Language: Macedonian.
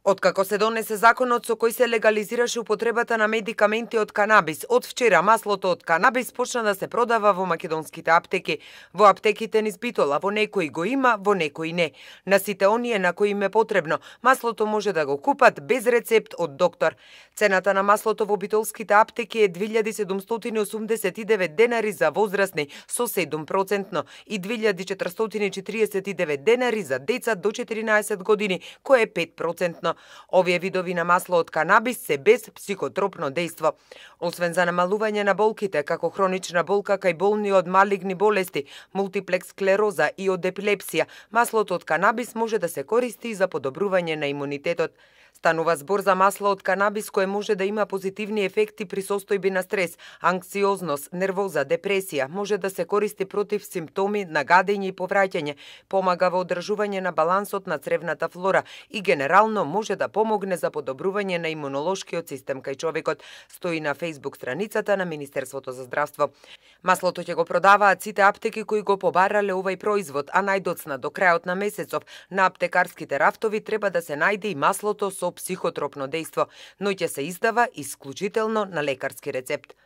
Откако се донесе законот со кој се легализираше употребата на медикаменти од канабис, од вчера маслото од канабис почна да се продава во македонските аптеки. Во аптеките низ Битола, во некои го има, во некои не. На сите оние на кои им е потребно, маслото може да го купат без рецепт од доктор. Цената на маслото во битолските аптеки е 2789 денари за возрастни со 7% и 2449 денари за деца до 14 години, кое е 5%. Овие видови на масло од канабис се без психотропно дејство. Освен за намалување на болките, како хронична болка кај болни од малигни болести, мултиплекс склероза и од епилепсија, маслото од канабис може да се користи и за подобрување на имунитетот. Станува збор за масло од канабис кое може да има позитивни ефекти при состојби на стрес, анксиозност, нервоза, депресија, може да се користи против симптоми на гадење и повраќање, помага во одржување на балансот на цревната флора и генерално може да помогне за подобрување на имунолошкиот систем кај човекот, стои на Facebook страницата на Министерството за здравство. Маслото ќе го продаваат сите аптеки кои го побарале овој производ, а најдоцна до крајот на месецов на аптекарските рафтови треба да се најде и маслото со психотропно дејство, но ќе се издава исклучително на лекарски рецепт.